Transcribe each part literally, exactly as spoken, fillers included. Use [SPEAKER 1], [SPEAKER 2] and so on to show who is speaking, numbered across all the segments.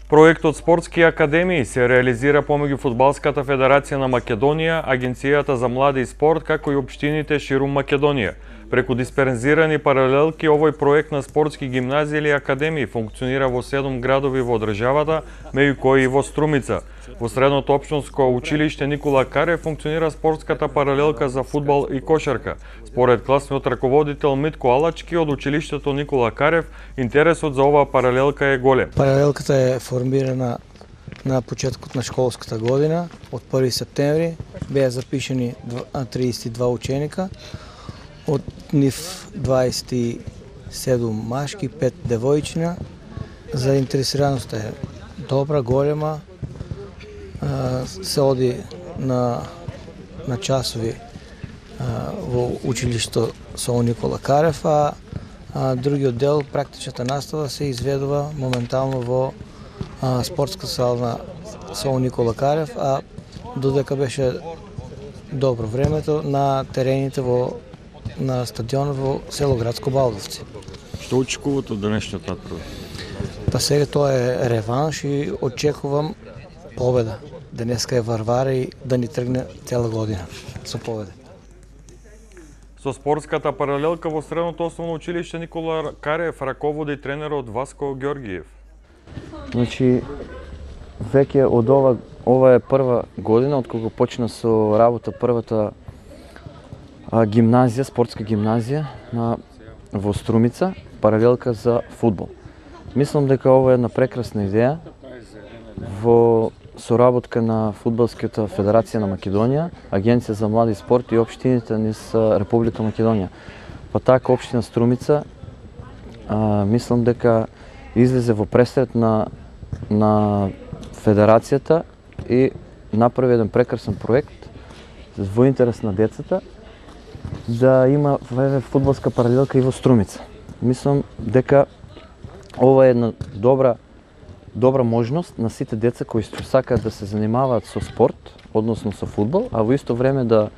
[SPEAKER 1] Проектот Спортски академии се реализира помеѓу Фудбалската федерација на Македонија, Агенцијата за млади и спорт, како и општините ширум Македонија. Преку дисперзирани паралелки, овој проект на спортски гимназии или академии функционира во седум градови во државата, меѓу кои и во Струмица. Во средното општинско училиште Никола Карев функционира спортската паралелка за фудбал и кошарка. Според класниот раководител Митко Алачки од училиштето Никола Карев, интересот за оваа паралелка е голем.
[SPEAKER 2] Паралелката е формирана на почетокот на школската година. Од први септември беа запишани триесет и два ученика, од нив дваесет и седум машки, пет девојчина. Заинтересираноста е добра, голема. Се оди на, на часови во училишто со Никола Карев, а, а другиот дел, практичната настава, се изведува моментално во а, спортска сала со Никола Карев, а додека беше добро времето на терените во на стадионот во село Градско Балдовци.
[SPEAKER 1] Што очекувате од денешниот натпревар?
[SPEAKER 2] Па сега тоа е реванш и очекувам победа. Денеска е Варвара и да ни тргне цела година со победа.
[SPEAKER 1] Со спортската паралелка во средното основно училиште Никола Карев раководи тренерот Васко Ѓорѓиев.
[SPEAKER 3] Значи, веќе од ова, ова е прва година, од кога почна со работа првата а, гимназија, спортска гимназија на, во Струмица, паралелка за фудбал. Мислам дека ова е една прекрасна идеја во соработка на Фудбалската федерација на Македонија, Агенција за млади и спорт и општините низ Република Македонија. Па така општина Струмица, а, мислам дека излезе во пресред на, на федерацијата и направи еден прекрасен проект во интерес на децата да има фудбалска паралелка и во Струмица. Мислам дека ова е една добра добра можност на сите деца кои што сакаат да се занимаваат со спорт, односно со фудбал, а во исто време да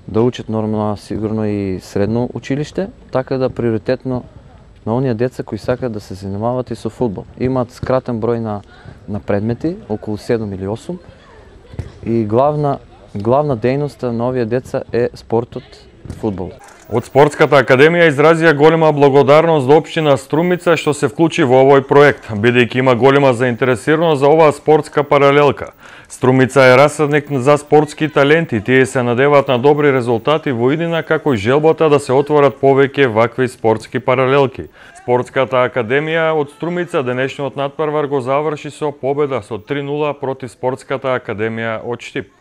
[SPEAKER 3] да учат нормално, сигурно и средно училиште, така да приоритетно на оние деца кои сакаат да се занимаваат и со фудбал. Имаат скратен број на на предмети, околу седум или осум, и главна главна дејност на овие деца е спортот, фудбал.
[SPEAKER 1] Од Спортската академија изразија голема благодарност до општина Струмица што се вклучи во овој проект, бидејќи има голема заинтересираност за оваа спортска паралелка. Струмица е расадник за спортски таленти, тие се надеваат на добри резултати во иднина, како и желбата да се отворат повеќе вакви спортски паралелки. Спортската академија од Струмица денешниот натпревар го заврши со победа со три нула против Спортската академија од Штип.